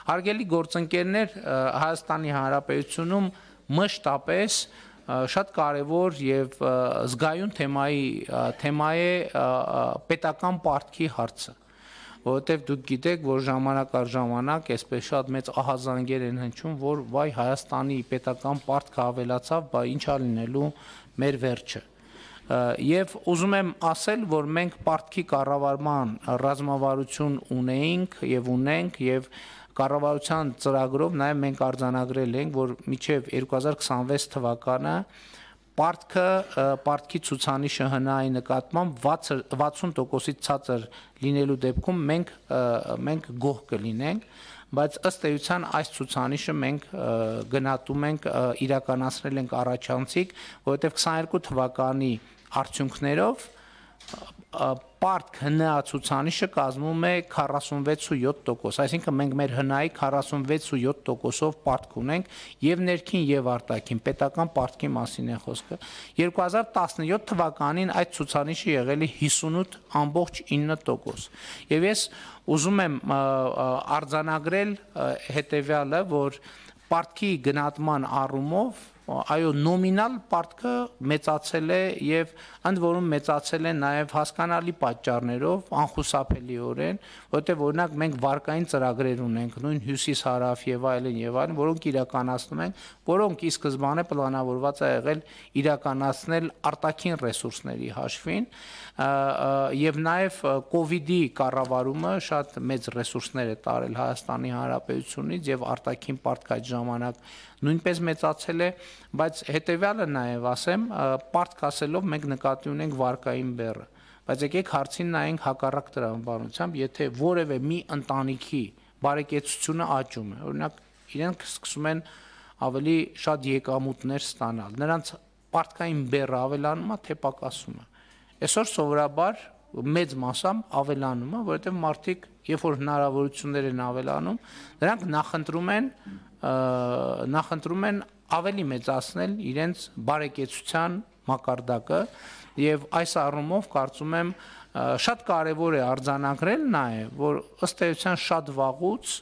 Հարգելի գործընկերներ, Հայաստանի Հանրապետությունում մշտապես շատ կարևոր եւ զգայուն թեմա է պետական պարտքի հարցը, որովհետեւ դուք գիտեք, որ ժամանակ առ ժամանակ այսպես շատ մեծ ահազանգեր են հնչում, որ վայ Հայաստանի պետական պարտքը ավելացավ, բա ինչ ա լինելու մեր վերջը։ Եվ ուզում եմ ասել, որ մենք պարտքի կառավարման ռազմավարություն ունեինք եւ ունենք եւ կառավարության ծրագրով նաեւ մենք արձանագրել ենք, որ մինչեւ 2026 թվականը պարտքի ցուցանիշը ՀՆԱ-ի նկատմամբ 60%-ից ցածր լինելու դեպքում մենք գոհ կլինենք, բայց ըստ էության այս ցուցանիշը մենք գնահատում ենք իրականացնել ենք առաջանցիկ, որովհետև 22 թվականի արդյունքներով պարտք ՀՆԱ ցուցանիշը կազմում է 46.7%, այսինքն մենք մեր ՀՆԱ-ի 46.7%-ով պարտք ունենք եւ ներքին եւ արտաքին պետական պարտքի մասին է խոսքը։ 2017 թվականին այդ ցուցանիշը եղել է 58.9%։ Եվ ես ուզում եմ արձանագրել հետեւյալը, որ պարտքի գնահատման առումով այո նոմինալ պարտքը մեծացել է եւ ընդ որում մեծացել է նաեւ հասկանալի պատճառներով անխուսափելիորեն, որովհետեւ օրինակ մենք վարկային ծրագրեր ունենք, նույն հյուսիս-հարավ եւ այլն, որոնք իրականացնում ենք, որոնք ի սկզբանե պլանավորված է եղել իրականացնել արտաքին ռեսուրսների հաշվին եւ նաեւ կոവിഡ്ի կառավարումը շատ մեծ ռեսուրսներ է տարել Հայաստանի Հանրապետությունից եւ արտաքին պարտք այդ ժամանակ նույնպես մեծացել է, բայց հետեւյալը նաեւ ասեմ, պարտք ասելով մենք նկատի ունենք վարկային բեռը, բայց եկեք հարցին նայենք հակառակ տրամաբանությամբ, եթե որևէ մի ընտանիքի բարեկեցությունը աճում է, օրինակ իրենք սկսում են ավելի շատ եկամուտներ ստանալ, նրանց պարտքային բեռը ավելանում է, թե պակասում է։ Այսօր սովորաբար մեծ մասամբ ավելանում է, որովհետև մարդիկ, երբ որ հնարավորություններ են ավելանում, նրանք նախընտրում են ավելի մեծացնել իրենց բարեկեցության մակարդակը եւ այս առումով կարծում եմ շատ կարեւոր է արձանագրել նաեւ, որ ըստ էության շատ վաղուց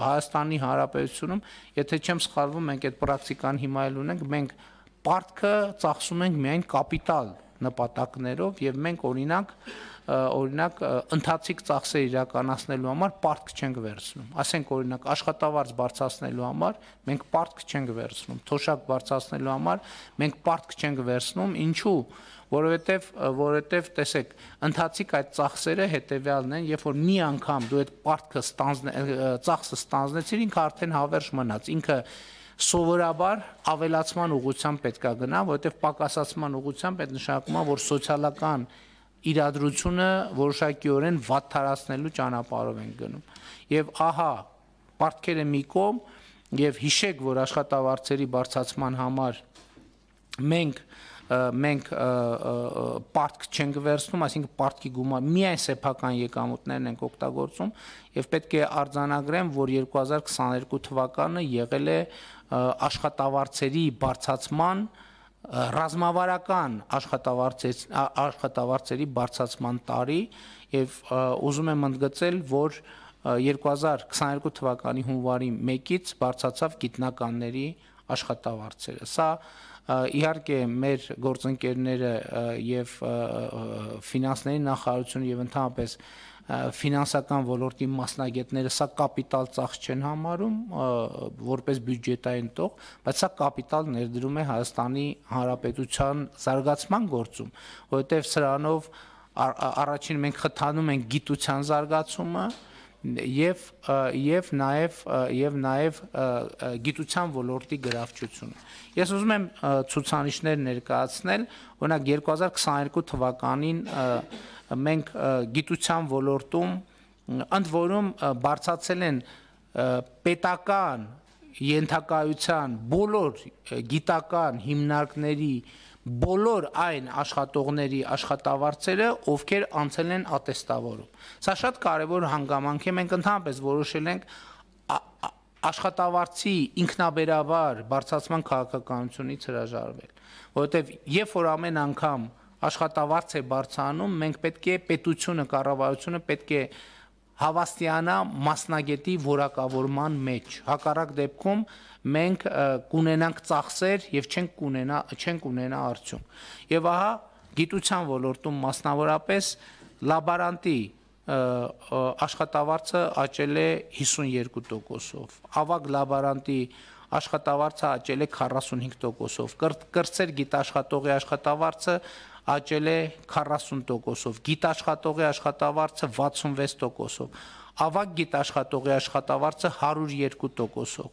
Հայաստանի Հանրապետությունում, եթե չեմ սխալվում, մենք այդ պրակտիկան հիմա էլ ունենք, մենք պարտքը ծախսում ենք միայն կապիտալ նպատակներով եւ մենք օրինակ ընթացիկ ծախսեր իրականացնելու համար պարտք չենք վերցնում, ասենք օրինակ աշխատավարձ բարձրացնելու համար մենք պարտք չենք վերցնում, թոշակ բարձրացնելու համար մենք պարտք չենք վերցնում, ինչու, որովհետև տեսեք, ընթացիկ այդ ծախսերը հետեւյալն են, երբ որ մի անգամ դու այդ պարտքը ծախսը ստանձնեցիր, ինքը արդեն հավերժ մնաց, ինքը սովորաբար ավելացման ուղղությամբ պետք է գնա, որովհետև պակասացման ուղղությամբ այդ նշանակում է, որ սոցիալական իրադրությունը որոշակիորեն վատթարացնելու ճանապարհով ենք գնում։ Եվ ահա պարտքերը մի կողմ եւ հիշեք, որ աշխատավարձերի բարձրացման համար մենք պարտք չենք վերցնում, այսինքն պարտքի գումար միայն սեփական եկամուտներն ենք օգտագործում եւ պետք է արձանագրեմ, որ 2022 թվականը եղել է աշխատավարձերի բարձրացման ռազմավարական աշխատավարձերի բարձրացման տարի եւ ուզում եմ ընդգծել, որ 2022 թվականի հունվարի 1-ից բարձրացավ գիտնականների աշխատավարձերը։ Սա իհարկե մեր գործընկերները եւ ֆինանսների նախարարությունը եւ ընդհանրապես ֆինանսական ոլորտի մասնագետները սա կապիտալ ծախս չեն համարում որպես բյուջետային տող, բայց սա կապիտալ ներդրում է Հայաստանի Հանրապետության զարգացման գործում, որովհետեւ սրանով առաջին մենք խթանում ենք գիտության զարգացումը եւ նաեւ գիտության ոլորտի գրավչությունը։ Ես ուզում եմ ցուցանիշներ ներկայացնել, օրինակ 2022 թվականին մենք գիտության ոլորտում ընդ որում բարձրացել են պետական ենթակայության բոլոր գիտական հիմնարկների բոլոր այն աշխատողների աշխատավարձերը, ովքեր անցել են ատեստավորում։ Սա շատ կարևոր հանգամանք է, մենք ընդհանրապես որոշել ենք աշխատավարձի ինքնաբերաբար բարձրացման քաղաքականությունից հրաժարվել, որովհետև երբ որ ամեն անգամ աշխատավարձ է բարձրանում, մենք պետք է պետությունը, կառավարությունը պետք է հավաստիանա մասնագետի որակավորման մեջ։ Հակառակ դեպքում մենք կունենանք ծախսեր եւ չենք ունենա արդյունք։ Եվ ահա գիտության ոլորտում մասնավորապես լաբորանտի աշխատավարձը աճել է 52%-ով, ավագ լաբորանտի աշխատավարձը աճել է 45%-ով, կրտսեր գիտաշխատողի աշխատավարձը աճել է 40%-ով, գիտաշխատողի աշխատավարձը 66%-ով, ավագ գիտաշխատողի աշխատավարձը 102%-ով,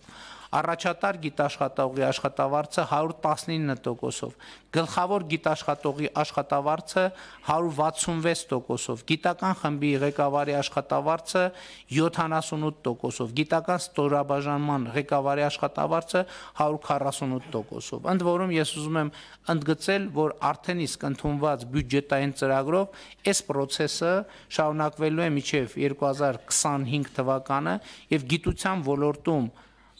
առաջատար գիտաշխատողի աշխատավարձը 119%-ով, գլխավոր գիտաշխատողի աշխատավարձը 166%-ով, գիտական խմբի ղեկավարի աշխատավարձը 78%-ով, գիտական ստորաբաժանման ղեկավարի աշխատավարձը 148%-ով։ Ընդ որում ես ուզում եմ ընդգծել, որ արդեն իսկ ընդունված բյուջետային ծրագրով այս process-ը շարունակվելու է մինչև 2025 թվականը եւ գիտության ոլորտում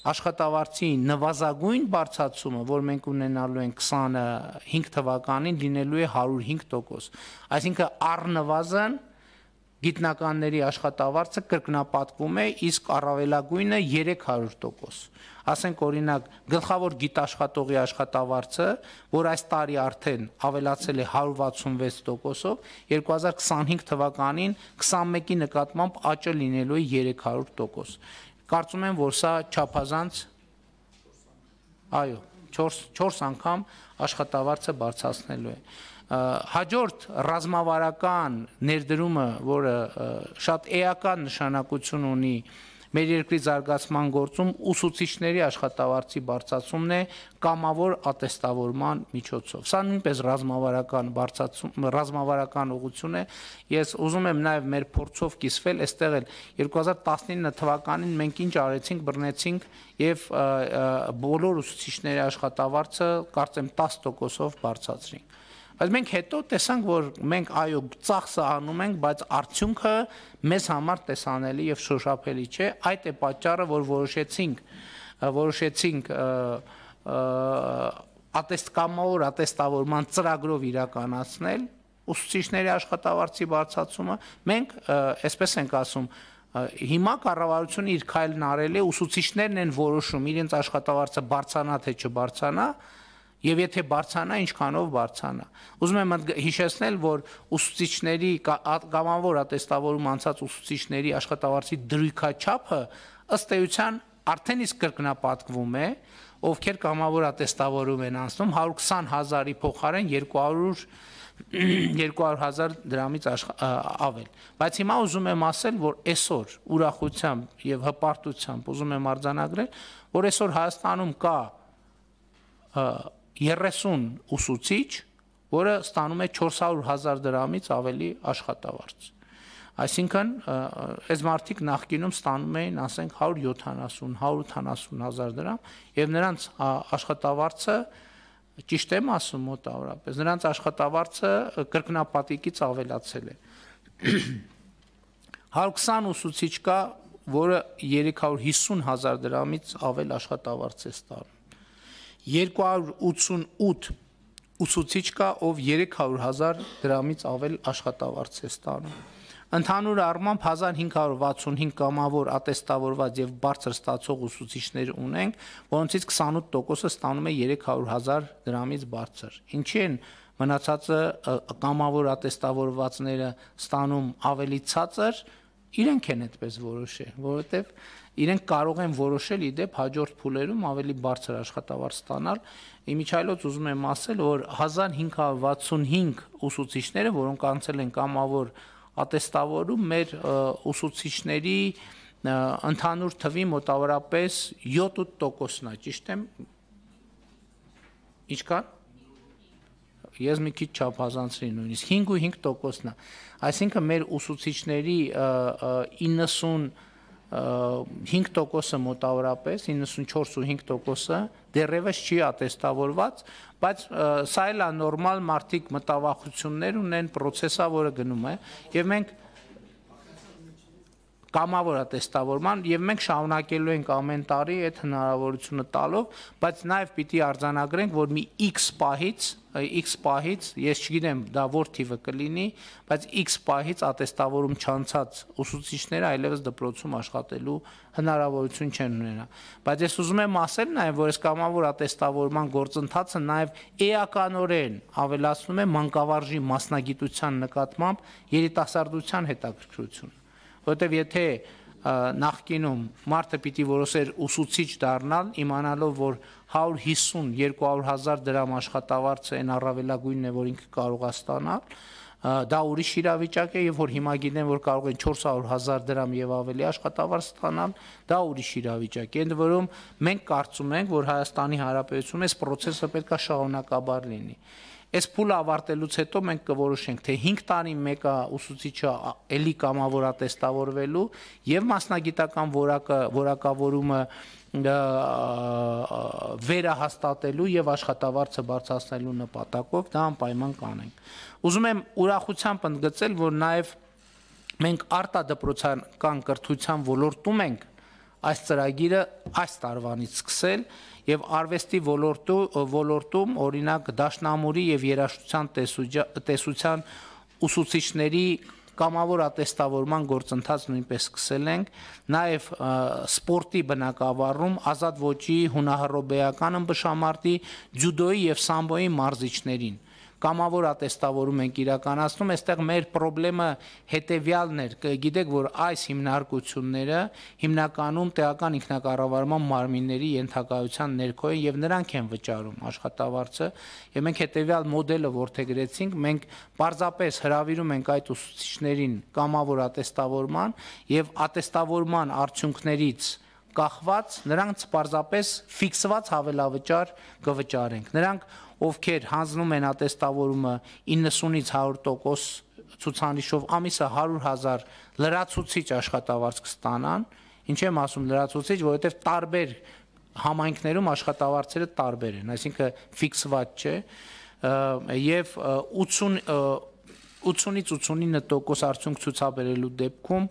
աշխատավարձի նվազագույն բարձրացումը, որ մենք ունենալու ենք 25 թվականին, լինելու է 105%։ Այսինքն առնվազն գիտնականների աշխատավարձը կրկնապատկվում է, իսկ առավելագույնը 300%։ Ասենք օրինակ գլխավոր գիտաշխատողի աշխատավարձը, որ այս տարի արդեն ավելացել է 166%-ով, 2025 թվականին 21-ի նկատմամբ աճը լինելու է 300%։ Կարծում եմ, որ սա չափազանց, այո, 4 անգամ աշխատավարձը բարձրացնելու է։ Հաջորդ ռազմավարական ներդրումը, որը շատ էական նշանակություն ունի մեր երկրի զարգացման գործում, ուսուցիչների աշխատավարձի բարձրացումն է կամավոր ատեստավորման միջոցով։ Սա նույնպես ռազմավարական ուղղություն է։ Ես ուզում եմ նաև մեր փորձով կիսվել, այստեղ էլ 2019 թվականին մենք ինչ արեցինք, բռնեցինք եւ բոլոր ուսուցիչների աշխատավարձը կարծեմ 10%-ով բարձրացրինք։ Բայց մենք հետո տեսանք, որ մենք այո ծախսը անում ենք, բայց արդյունքը մեզ համար տեսանելի եւ շոշափելի չէ։ Այդ է պատճառը, որ որոշեցինք կամավոր ատեստավորման ծրագրով իրականացնել ուսուցիչների աշխատավարձի բարձրացումը։ Մենք, այսպես ենք ասում, հիմա կառավարությունը իր քայլն արել է, ուսուցիչներն են որոշում իրենց աշխատավարձը բարձրանա թե չբարձրանա։ Եվ եթե բարձրանա, ինչքանով բարձրանա։ Ուզում եմ հիշեցնել, որ ուսուցիչների կամավոր ատեստավորում անցած ուսուցիչների աշխատավարձի դրույքաչափը ըստ էության արդեն իսկ կրկնապատկվում է, ովքեր կամավոր ատեստավորում են անցնում 120,000-ի փոխարեն 200,000 դրամից ավել։ Բայց հիմա ուզում եմ ասել, որ այսօր ուրախությամբ եւ հպարտությամբ ուզում եմ արձանագրել, որ այսօր Հայաստանում կա 30 ուսուցիչ, որը ստանում է 400,000 դրամից ավելի աշխատավարձ։ Այսինքն, այս մարդիկ նախկինում ստանում էին, ասենք 170-180,000 դրամ, եւ նրանց աշխատավարձը, ճիշտ եմ ասում մոտավորապես, նրանց աշխատավարձը կրկնապատիկից ավելացել է։ 120 ուսուցիչ կա, որը 350,000 դրամից ավել աշխատավարձ է ստանում։ 288 ուսուցիչ կա, ով 300,000 դրամից ավել աշխատավարձ է ստանում։ Ընդհանուր առմամբ 1565 կամավոր ատեստավորված եւ բարձր ստացող ուսուցիչներ ունենք, որոնցից 28%-ը ստանում է 300,000 դրամից բարձր։ Ինչի են մնացածը կամավոր ատեստավորվածները ստանում ավելի ցածր, իրենք են այդպես որոշել, որովհետեւ իրենք կարող են որոշել իդեպ հաջորդ փուլերում ավելի բարձր աշխատավարձ ստանալ։ Իմիջիայլոց ուզում եմ ասել, որ 1565 ուսուցիչները, որոնք անցել են կամավոր ատեստավորում, մեր ուսուցիչների ընդհանուր թվի մոտավորապես 7-8%-ն է, ճիշտ եմ։ Ինչքան։ Ես մի քիչ չափազանցրի նույնիսկ 5.5%-ն է։ Այսինքն մեր ուսուցիչների 95%-ը մոտավորապես 94.5%-ը դեռևս չի ատեստավորված, բայց սա էլ է նորմալ, մարդիկ մտավախություններ ունեն, process-ը, որը գնում է, եւ մենք կամավոր ատեստավորման եւ մենք շարունակելու ենք ամեն տարի այդ հնարավորությունը տալով, բայց նաեւ պիտի արձանագրենք, որ մի X պահից, ես չգիտեմ դա որ թիվը կլինի, բայց X պահից ատեստավորում չանցած ուսուցիչները այլևս դպրոցում աշխատելու հնարավորություն չեն ունենա։ Բայց ես ուզում եմ ասել նաեւ, որ այս կամավոր ատեստավորման գործընթացը նաեւ էականորեն ավելացնում է մանկավարժի մասնագիտության նկատմամբ երիտասարդության հետաքրքրություն։ Որտեւ եթե նախկինում մարդը պիտի որոշեր ուսուցիչ դառնալ, իմանալով, որ 150-200 դրամ աշխատավարձը այն առավելագույնն է, որ ինքը կարող է ստանալ, դա ուրիշ իրավիճակ է, եւ որ հիմա գիտեն, որ կարող են 400,000 դրամ եւ ավելի աշխատավարձ ստանալ, դա ուրիշ իրավիճակ է։ Ընդ որում մենք կարծում ենք, որ Հայաստանի Հանրապետությունում այս process-ը պետք է շարունակաբար լինի։ Այս փուլը ավարտելուց հետո մենք կորոշենք, թե 5 տարի մեկը ուսուցիչը էլի կամավոր ատեստավորվելու եւ մասնագիտական որակավորումը վերահաստատելու եւ աշխատավարձը բարձրացնելու նպատակով դա անպայման կանենք։ Ուզում եմ ուրախությամբ ընդգծել, որ նաեւ մենք արտադպրոցական կրթության ոլորտում ենք այս ծրագիրը այս տարվանից սկսել եւ արվեստի ոլորտում օրինակ դաշնամուրի եւ երաժշտության տեսության ուսուցիչների կամավոր ատեստավորման գործընթաց նույնպես սկսել ենք, նաեւ սպորտի բնակավարում ազատ ոճի, հունահռոբեական ըմբշամարտի, ջյուդոյի եւ սամբոյի մարզիչներին կամավոր ատեստավորում ենք իրականացնում, այստեղ մեր խնդրը հետեւյալն էր, գիտեք, որ այս հիմնարկությունները հիմնականում տեղական ինքնակառավարման մարմինների ենթակայության ներքո են եւ նրանք են վճարում աշխատավարձը, եւ մենք հետեւյալ մոդելը որդեգրեցինք, մենք պարզապես հրավիրում ենք այդ ուսուցիչներին կամավոր ատեստավորման եւ ատեստավորման արդյունքներից կախված նրանց պարզապես ֆիքսված հավելավճար կվճարենք։ Նրանք, ովքեր հանձնում են ատեստավորումը 90-ից 100% ցուցանիշով ամիսը 100,000 լրացուցիչ աշխատավարձ կստանան, ինչ եմ ասում լրացուցիչ, որովհետև տարբեր համայնքներում աշխատավարձերը տարբեր են, այսինքն ֆիքսված չէ, եւ 80-ից 89% արդյունք ցուցաբերելու դեպքում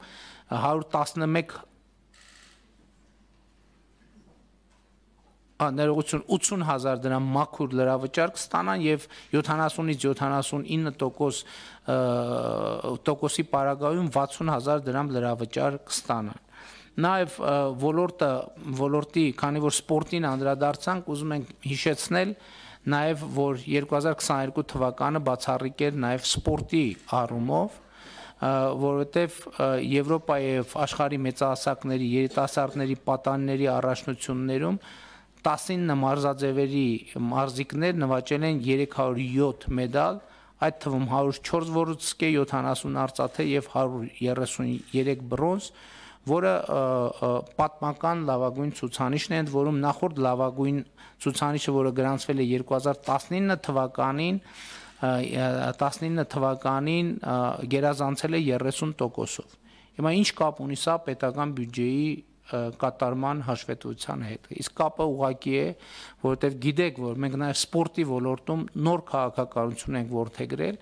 111 ներողություն 80,000 դրամ մաքուր լրավճար կստանան եւ 70-ից 79% պարագայում 60,000 դրամ լրավճար կստանան։ Նաեւ ոլորտի, քանի որ սպորտին անդրադարձանք, ուզում ենք հիշեցնել նաեւ, որ 2022 թվականը բացառիկ էր նաեւ սպորտի առումով, որովհետև Եվրոպայի եւ աշխարհի մեծահասակների երիտասարդների պատանիների առաջնություններում 19 մարզաձևերի մարզիկներ նվաճել են 307 մեդալ, այդ թվում 104 ոսկե, 70 արծաթե եւ 133 բրոնզ, որը պատմական լավագույն ցուցանիշն է, ընդ որում նախորդ լավագույն ցուցանիշը, որը գրանցվել է 2019 թվականին գերազանցել է 30%-ով։ Հիմա ինչ կապ ունի սա պետական բյուջեի կատարման հաշվետվության հետ։ Իսկ կապը ուղղակի է, որովհետև գիտեք, որ մենք նաև սպորտի ոլորտում նոր քաղաքականություն ենք որդեգրել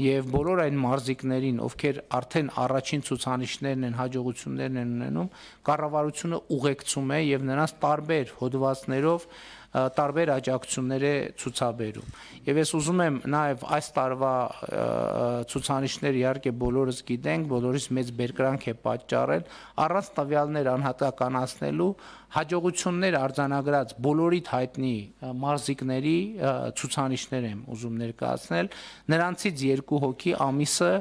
եւ բոլոր այն մարզիկներին, ովքեր արդեն առաջին ցուցանիշներն են, հաջողություններն են ունենում, կառավարությունը ուղեկցում է եւ նրանց տարբեր հոդվածներով տարբեր աջակցություններ է ցուցաբերում։ Եվ ես ուզում եմ նաև այս տարվա ցուցանիշները իհարկե բոլորս գիտենք, բոլորիս մեծ բերկրանք է պատճառել, առանց տվյալներ անհատականացնելու հաջողություններ արձանագրած բոլորիդ հայտնի մարզիկների ցուցանիշներ եմ ուզում ներկայացնել, նրանցից 2 հոգի ամիսը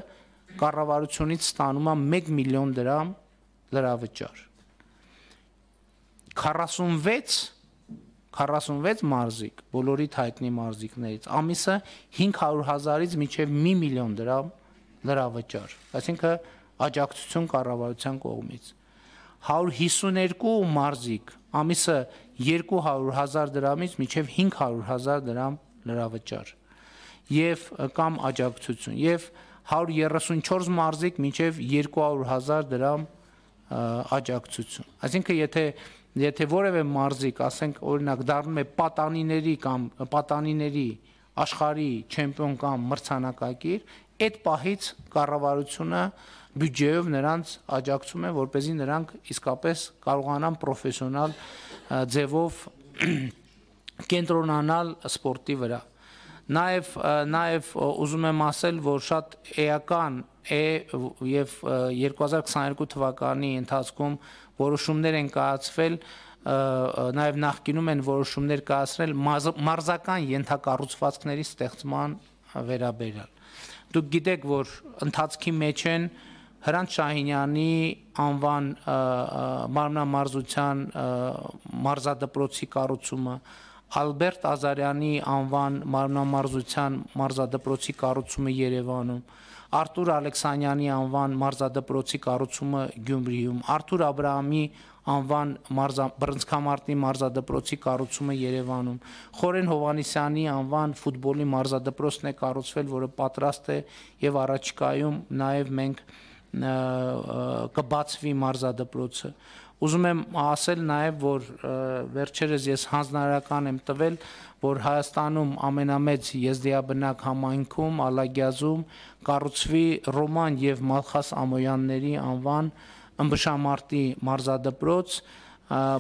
կառավարությունից ստանում է 1 միլիոն դրամ լրավճար։ 46 մարզիկ, բոլորիդ հայտնի մարզիկներից, ամիսը 500,000-ից մինչև 1 միլիոն դրամ լրավճար, այսինքն աջակցություն կառավարության կողմից։ 152 մարզիկ, ամիսը 200,000 դրամից մինչև 500,000 դրամ լրավճար եւ կամ աջակցություն եւ 134 մարզիկ մինչև 200,000 դրամ աջակցություն։ Այսինքն եթե որևէ մարզիկ, ասենք օրինակ դառնում է պատանիների կամ պատանիների աշխարհի չեմպիոն կամ մրցանակակիր, այդ պահից կառավարությունը բյուջեով նրանց աջակցում է, որպեսզի նրանք իսկապես կարողանան պրոֆեսիոնալ ձևով կենտրոնանալ սպորտի վրա։ Նաև ուզում եմ ասել, որ շատ էական է եւ 2022 թվականի ընթացքում որոշումներ են կայացվել, նաև նախկինում են որոշումներ կայացրել մարզական ենթակառուցվածքների ստեղծման վերաբերյալ։ Դուք գիտեք, որ ընթացքի մեջ են Հրանտ Շահինյանի անվան մարմնամարզության մարզադպրոցի կառուցումը, Ալբերտ Ազարյանի անվան մարմնամարզության մարզադպրոցի կառուցումը Երևանում, Արթուր Ալեքսանյանի անվան մարզադպրոցի կառուցումը Գյումրիում, Արթուր Աբրահամի անվան բռնցքամարտի մարզադպրոցի կառուցումը Երևանում, Խորեն Հովհաննիսյանի անվան ֆուտբոլի մարզադպրոցն է կառուցվել, որը պատրաստ է եւ առաջիկայում նաեւ մենք կբացվի մարզադպրոցը։ Ուզում եմ ասել նաև, որ վերջերս ես հանձնարարական եմ տվել, որ Հայաստանում ամենամեծ եզդիաբնակ համայնքում Ալագյազում կառուցվի Ռոման եւ Մալխաս Ամոյանների անվան ըմբշամարտի մարզադպրոց,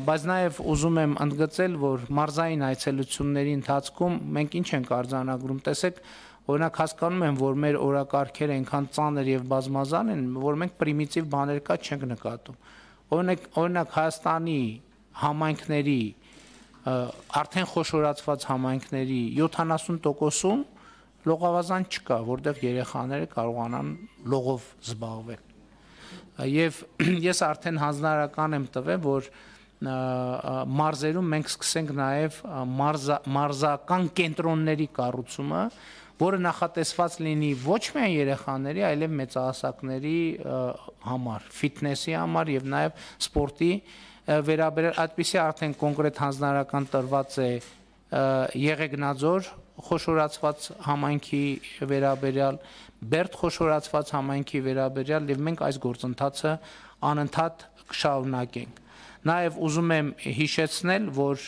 բայց նաև ուզում եմ ընդգծել, որ մարզային այցելությունների ընթացքում մենք ինչ ենք արձանագրում, տեսեք, օրինակ հասկանում եմ, որ մեր օրակարգերը այնքան ծանր եւ բազմազան են, որ մենք պրիմիտիվ բաներ կա չենք նկատում։ Օրինակ Հայաստանի համայնքների արդեն խոշորացված համայնքների 70%-ում լողավազան չկա, որտեղ երեխաները կարողանան լողով զբաղվել։ Եվ ես արդեն հանձնարարական եմ տվել, որ մարզերում մենք սկսենք նաև մարզական կենտրոնների կառուցումը, որը նախատեսված լինի ոչ միայն երեխաների, այլև մեծահասակների համար, ֆիթնեսի համար եւ նաեւ սպորտի վերաբերյալ այդպիսի արդեն կոնկրետ հանձնարարական տրված է Եղեգնաձոր խոշորացված համայնքի վերաբերյալ, Բերդ խոշորացված համայնքի վերաբերյալ եւ մենք այս գործընթացը անընդհատ կշարունակենք։ Նաեւ ուզում եմ հիշեցնել, որ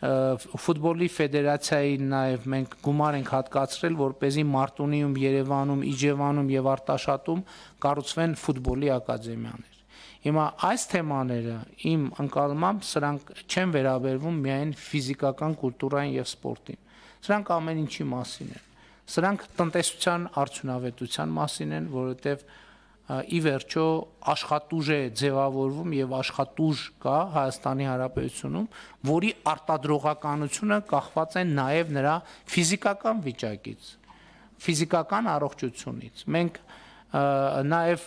ֆուտբոլի ֆեդերացիայի նաև մենք գումար ենք հատկացրել, որպեսզի Մարտունիում, Երևանում, Իջևանում եւ Արտաշատում կառուցվեն ֆուտբոլի ակադեմիաներ։ Հիմա այս թեմաները իմ ընկալմամբ սրանք չեն վերաբերվում միայն ֆիզիկական կուլտուրային եւ սպորտին։ Սրանք ամեն ինչի մասին են։ Սրանք տնտեսության արդյունավետության մասին են, որովհետեւ ի վերջո աշխատուժ է ձևավորվում եւ աշխատուժ կա Հայաստանի Հանրապետությունում, որի արտադրողականությունը կախված է նաեւ նրա ֆիզիկական վիճակից, ֆիզիկական առողջությունից։ Մենք նաեւ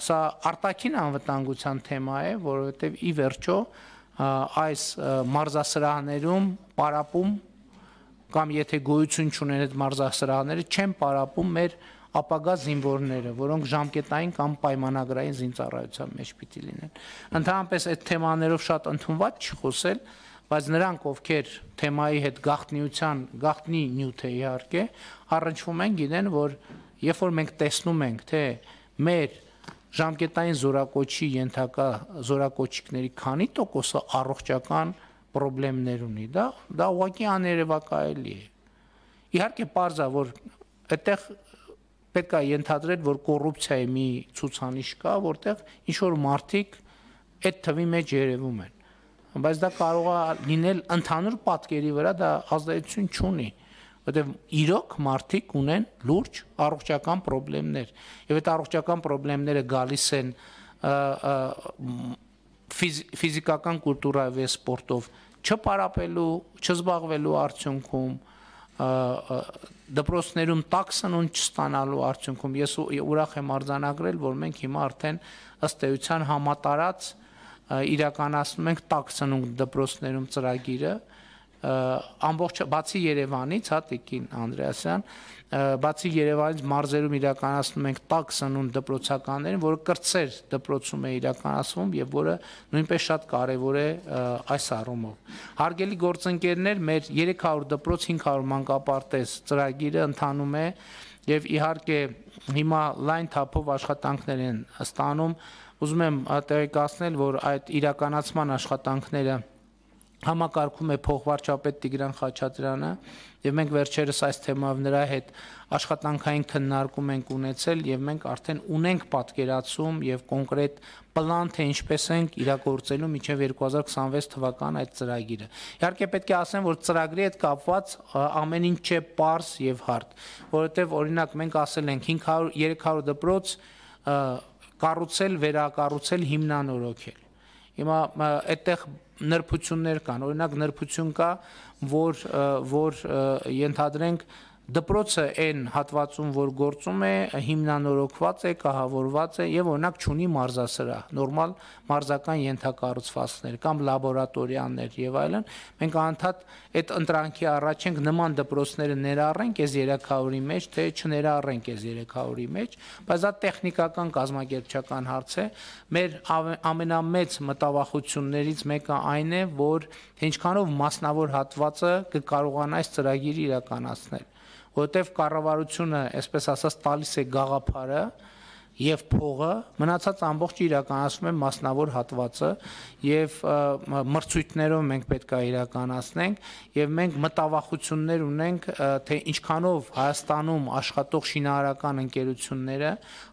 սա արտաքին անվտանգության թեմա է, որովհետեւ ի վերջո այս մարզասրահներում պարապում կամ եթե գոյություն չունեն այդ մարզասրահները, չեն պարապում մեր ապագա զինվորները, որոնք ժամկետային կամ պայմանագրային զինծառայության մեջ պիտի լինեն։ Ընդհանրապես այդ թեմաներով շատ ընդունված չի խոսել, բայց նրանք, ովքեր թեմայի հետ գաղտնի նյութ է իհարկե, առնչվում են, գիտեն, որ երբ որ մենք տեսնում ենք, թե մեր ժամկետային զորակոչի ենթակա զորակոչիկների քանի տոկոսը առողջական պրոբլեմներ ունի, դա ուղղակի աներևակայելի է։ Իհարկե պարզ է, որ այդտեղ պետք է ենթադրել, որ կոռուպցիայի մի ցուցանիշ կա, որտեղ ինչ որ մարդիկ այդ թվի մեջ երևում են, բայց դա կարող է լինել ընդհանուր պատկերի վրա, դա ազդեցություն չունի, որտեղ իրոք մարդիկ ունեն լուրջ առողջական պրոբլեմներ, եւ այդ առողջական պրոբլեմները գալիս են ֆիզիկական կուլտուրայով եւ սպորտով չպարապելու, չզբաղվելու արդյունքում, դպրոցներում տաք սնունդ չստանալու արդյունքում ես ուրախ եմ արձանագրել, որ մենք հիմա արդեն ըստ էության համատարած իրականացնում ենք տաք սնունդ դպրոցներում ծրագիրը, ամբողջ բացի Երևանից, հա Տիկին Անդրեասյան, բացի Երևանից մարզերում իրականացնում ենք տաք սնունդ դպրոցականներին, որը կրտսեր դպրոցում է իրականացվում եւ որը նույնպես շատ կարեւոր է այս առումով։ Հարգելի գործընկերներ, մեր 300 դպրոց 500 մանկապարտեզ ծրագիրը ընթանում է եւ իհարկե հիմա լայն թափով աշխատանքներ են ստանում։ Ուզում եմ տեղեկացնել, որ այդ իրականացման աշխատանքները համակարգում է փոխվարչապետ Տիգրան Խաչատրյանը եւ մենք վերջերս այս թեմայով նրա հետ աշխատանքային քննարկում ենք ունեցել եւ մենք արդեն ունենք պատկերացում եւ կոնկրետ պլան թե ինչպես ենք իրագործելու մինչեւ 2026 թվական այդ ծրագիրը։ Իհարկե պետք է ասեմ, որ ծրագրի հետ կապված ամեն ինչ չէ պարզ եւ հարթ, որովհետեւ օրինակ մենք ասել ենք 500-300 դպրոց կառուցել, վերակառուցել, հիմնանորոգել։ Հիմա այդտեղ նրբություններ կան, օրինակ նրբություն կա, որ ենթադրենք դպրոցը այն հատվածում, որ գործում է, հիմնանորոգված է, կահավորված է եւ օրինակ չունի մարզասրահ, նորմալ մարզական ենթակառուցվածքներ կամ լաբորատորիաներ եւ այլն, մենք անընդհատ այդ ընտրանքի առաջ ենք նման դպրոցները ներառենք այս 300-ի մեջ, թե չներառենք այս 300-ի մեջ, բայց դա տեխնիկական կազմակերպչական հարց է։ Մեր ամենամեծ մտավախություններից մեկը այն է, որ ինչքանով մասնավոր հատվածը կկարողանա այս ծրագիրը իրականացնել, որովհետև կառավարությունը, այսպես ասած, տալիս է գաղափարը եւ փողը, մնացած ամբողջը իրականացում է մասնավոր հատվածը եւ մրցույթներով մենք պետք է իրականացնենք եւ մենք մտավախություններ ունենք, թե ինչքանով Հայաստանում աշխատող շինարարական ընկերությունները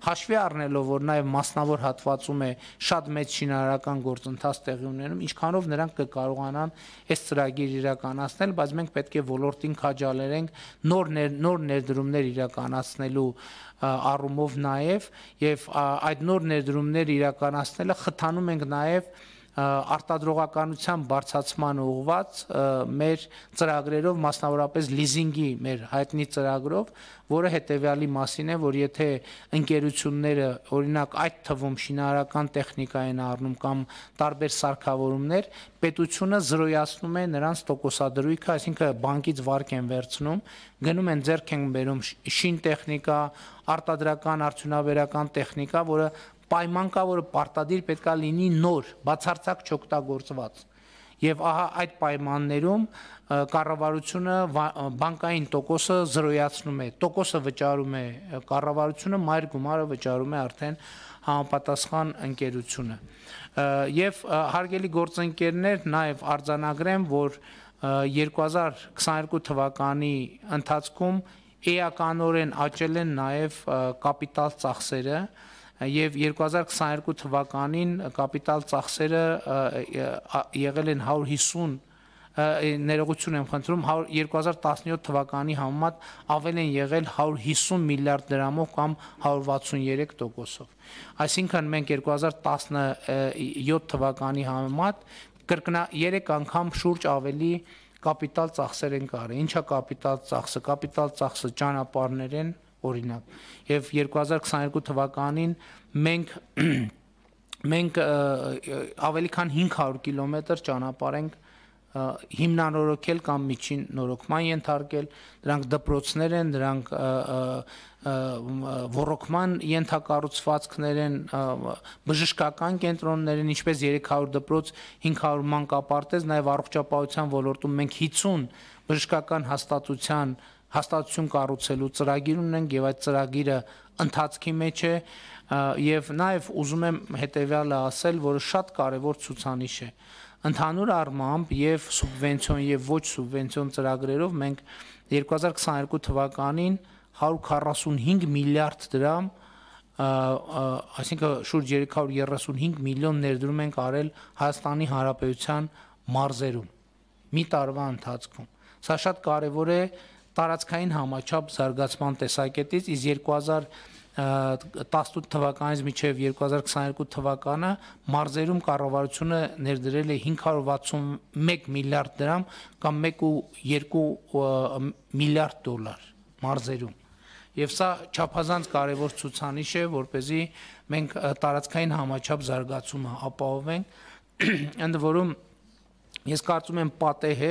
հաշվի առնելով, որ նաեւ մասնավոր հատվածում է շատ մեծ շինարարական գործընթաց տեղի ունենում, ինչքանով նրանք կկարողանան այս ծրագիրը իրականացնել, բայց մենք պետք է ոլորտին քաջալերենք նոր ներդրումներ իրականացնելու առումով նաև եւ այդ նոր ներդրումներ իրականացնելը խթանում ենք նաև արտադրողականության բարձրացման ուղղված մեր ծրագրերով, մասնավորապես լիզինգի մեր հայտնի ծրագրով, որը հետեւյալի մասին է, որ եթե ընկերությունները օրինակ այդ թվում շինարարական տեխնիկա են առնում կամ տարբեր սարքավորումներ, պետությունը զրոյացնում է նրանց տոկոսադրույքը, այսինքն բանկից վարկ են վերցնում, գնում են ձեռք են բերում շին տեխնիկա, արտադրական արդյունաբերական տեխնիկա, որը պայման կա, որը պարտադիր պետքա լինի նոր, բացարձակ չօգտագործված։ Եվ ահա այդ պայմաններում կառավարությունը բանկային տոկոսը զրոյացնում է, տոկոսը վճարում է կառավարությունը, մայր գումարը վճարում է արդեն համապատասխան ընկերությունը։ Եվ հարգելի գործընկերներ, նաև արձանագրեմ, որ 2022 թվականի ընթացքում էականորեն աճել են նաև կապիտալ ծախսերը եւ 2022 թվականին կապիտալ ծախսերը եղել են 150 ներողություն եմ խնդրում 2017 թվականի համեմատ ավել են եղել 150 միլիարդ դրամով կամ 163%-ով։ Այսինքն մենք 2017 թվականի համեմատ կրկնա 3 անգամ շուրջ ավելի կապիտալ ծախսեր են կարել։ Ինչա կապիտալ ծախսը։ Կապիտալ ծախսը ճանապարհներ են, օրինակ, եւ 2022 թվականին մենք ավելի քան 500 կիլոմետր ճանապարհ ենք հիմնանորոգել կամ միջին նորոգման ենթարկել, դրանք դպրոցներ են, դրանք ոռոգման ենթակառուցվածքներ են, բժշկական կենտրոններ են, ինչպես 300 դպրոց, 500 մանկապարտեզ, նաև առողջապահության ոլորտում մենք 50 բժշկական հաստատություն կառուցելու ծրագիր ունենք եւ այդ ծրագիրը ընթացքի մեջ է եւ նաեւ ուզում եմ հետեւյալը ասել, որը շատ կարեւոր ցուցանիշ է։ Ընդհանուր առմամբ եւ սուբվենցիոն եւ ոչ սուբվենցիոն ծրագրերով մենք 2022 թվականին 145 միլիարդ դրամ, այսինքն շուրջ 335 միլիոն ներդրում ենք արել Հայաստանի Հանրապետության մարզերում մի տարվա ընթացքում։ Սա շատ կարևոր է տարածքային համաչափ զարգացման տեսակետից, իսկ 2018 թվականից մինչև 2022 թվականը մարզերում կառավարությունը ներդրել է 561 միլիարդ դրամ կամ 1.2 միլիարդ դոլար մարզերում։ Եվ սա չափազանց կարևոր ցուցանիշ է, որպեսզի մենք տարածքային համաչափ զարգացումը ապահովենք, ընդ որում ես կարծում եմ պատեհ է,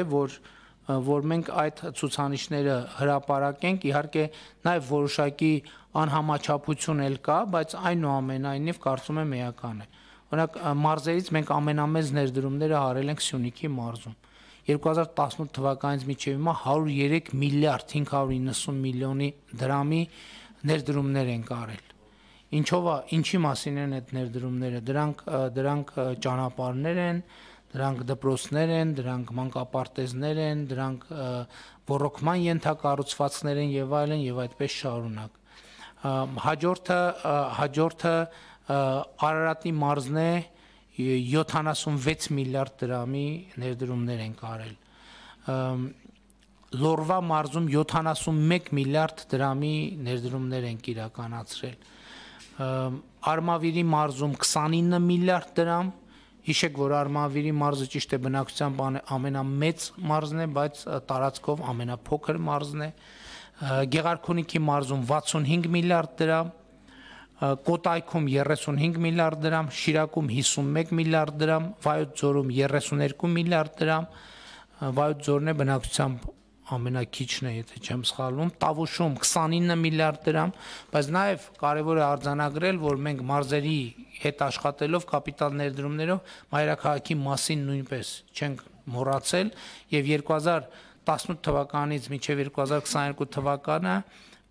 որ մենք այդ ցուցանիշները հրապարակենք, իհարկե նաև որոշակի անհամաչափություն էլ կա, բայց այնուամենայնիվ կարծում եմ էական է։ Օրինակ մարզերից մենք ամենամեծ ներդրումները արել ենք Սյունիքի մարզում։ 2018 թվականից մինչև հիմա 103 միլիարդ 590 միլիոնի դրամի ներդրումներ ենք արել։ Ինչի մասին են այդ ներդրումները։ Դրանք ճանապարհներ են, դրանք դպրոցներ են, դրանք մանկապարտեզներ են, դրանք ռոռոկման ենթակառուցվածքներ են եւ այլն եւ այդպես շարունակ։ Հաջորդը Արարատի մարզն է 76 միլիարդ դրամի ներդրումներ են կարել։ Լորվա մարզում 71 միլիարդ դրամի ներդրումներ են իրականացրել։ Արմավիրի մարզում 29 միլիարդ դրամ, հիշեք, որ Արմավիրի մարզը ճիշտ է բնակչությամբ ամենամեծ մարզն է, բայց տարածքով ամենափոքր մարզն է։ Գեղարքունիքի մարզում 65 միլիարդ դրամ, Կոտայքում 35 միլիարդ դրամ, Շիրակում 51 միլիարդ դրամ, Վայոց ձորում 32 միլիարդ դրամ, Վայոց ձորն է բնակչությամբ ամենաքիչն է, եթե չեմ սխալվում, Տավուշում 29 միլիարդ դրամ, բայց նաև կարևոր է արձանագրել, որ մենք մարզերի հետ աշխատելով կապիտալ ներդրումներով մայրաքաղաքի մասին նույնպես չենք մոռացել եւ 2018 թվականից մինչեւ 2022 թվականը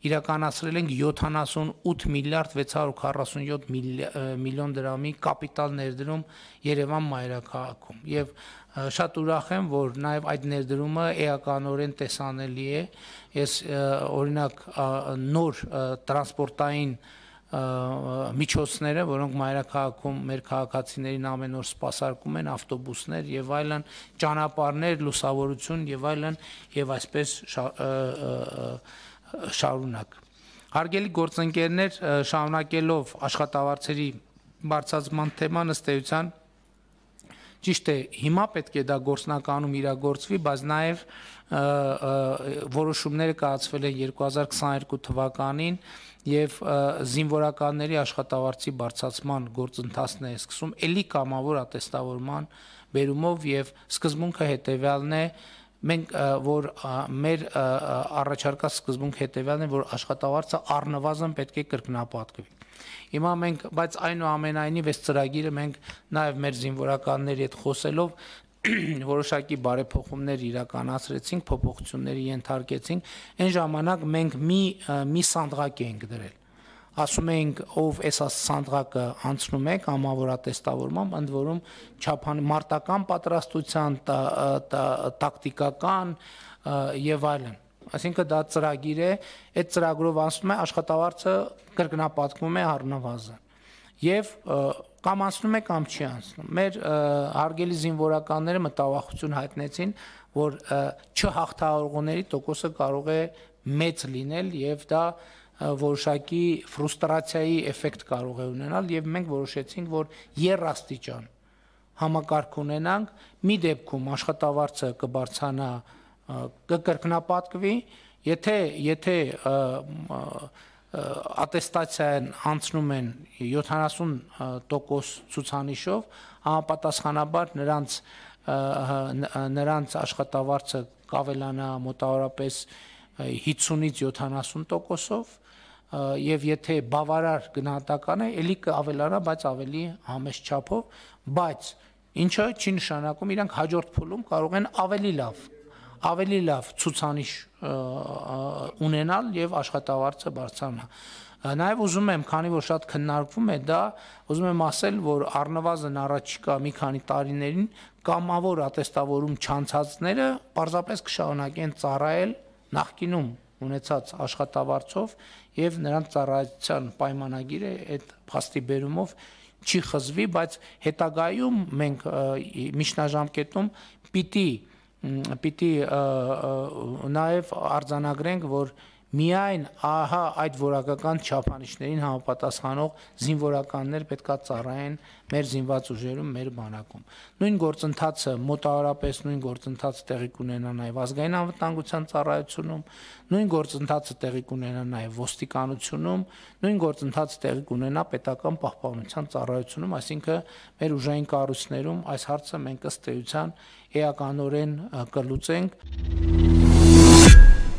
իրականացրել ենք 78 միլիարդ 647 միլիոն դրամի կապիտալ ներդրում Երևան մայրաքաղաքում եւ շատ ուրախ եմ, որ նաև այդ ներդրումը էականորեն տեսանելի է։ Ես օրինակ նոր տրանսպորտային միջոցները, որոնք մայրաքաղաքում մեր քաղաքացիներին ամեն օր սպասարկում են, ավտոբուսներ եւ այլն, ճանապարհներ, լուսավորություն եւ այլն, եւ այսպես շարունակ։ Հարգելի գործընկերներ, շարունակելով աշխատավարձերի բարձրացման թեման, ըստ էության ճիշտ է, հիմա պետք է դա գործնականում իրագործվի, բայց նաև որոշումները կայացվել են 2022 թվականին եւ զինվորականների աշխատավարձի բարձրացման գործընթացն է սկսում էլի կամավոր ատեստավորման բերումով եւ սկզբունքը հետեւյալն է, մենք որ մեր առաջարկած սկզբունքը հետեւյալն է, որ աշխատավարձը առնվազն պետք է կրկնապատկվի։ Հիմա մենք, բայց այնուամենայնիվ այս ծրագիրը մենք նաև մեր զինվորականների հետ խոսելով որոշակի բարեփոխումներ իրականացրեցինք, փոփոխությունների ենթարկեցինք, այն ժամանակ մենք մի սանդղակ էինք դրել։ Ասում էինք, ով այս սանդղակը անցնում է կամավոր ատեստավորմամբ, ընդ որում մարտական պատրաստության, տակտիկական եւ այլն։ Այսինքն դա ծրագիր է, այդ ծրագրով անցնում է աշխատավարձը կրկնապատկվում է առնվազն եւ կամ անցնում է կամ չի անցնում։ Մեր հարգելի զինվորականները մտավախություն հայտնեցին, որ չհաղթահարողների տոկոսը կարող է մեծ լինել եւ դա որոշակի ֆրուստրացիայի էֆեկտ կարող է ունենալ եւ մենք որոշեցինք, որ երաստիճան համակարգ ունենանք, մի դեպքում աշխատավարձը կբարձրանա կկրկնապատկվի, եթե ատեստացիան անցնում են 70% ցուցանիշով, համապատասխանաբար նրանց աշխատավարձը կավելանա մոտավորապես 50-ից 70%-ով եւ եթե բավարար գնահատական է, ելի կավելանա, բայց ավելի համեստ չափով, բայց ինչը չի նշանակում իրանք հաջորդ փուլում կարող են ավելի լավ ցուցանիշ ունենալ եւ աշխատավարձը բարձրանա։ Նաեւ ուզում եմ, քանի որ շատ քննարկվում է դա, ուզում եմ ասել, որ առնվազն առաջիկա մի քանի տարիներին կամավոր ատեստավորում չանցածները պարզապես կշարունակեն ծառայել նախկինում ունեցած աշխատավարձով եւ նրանց ծառայության պայմանագիրը այդ փաստի բերումով չի խզվի, բայց հետագայում մենք միջնաժամկետում պիտի նաև արձանագրենք, որ միայն ահա այդ որակական չափանիշներին համապատասխանող զինվորականներ պետք է ծառայեն մեր զինված ուժերում, մեր բանակում։ Նույն գործընթացը մոտավորապես նույն գործընթացը տեղի կունենա նաև ազգային անվտանգության ծառայությունում, նույն գործընթացը տեղի կունենա նաև ոստիկանությունում, նույն գործընթացը տեղի կունենա պետական պահպանության ծառայությունում, այսինքն մեր ուժային կառույցներում այս հարցը մենք ըստ էության էականորեն կլուծենք։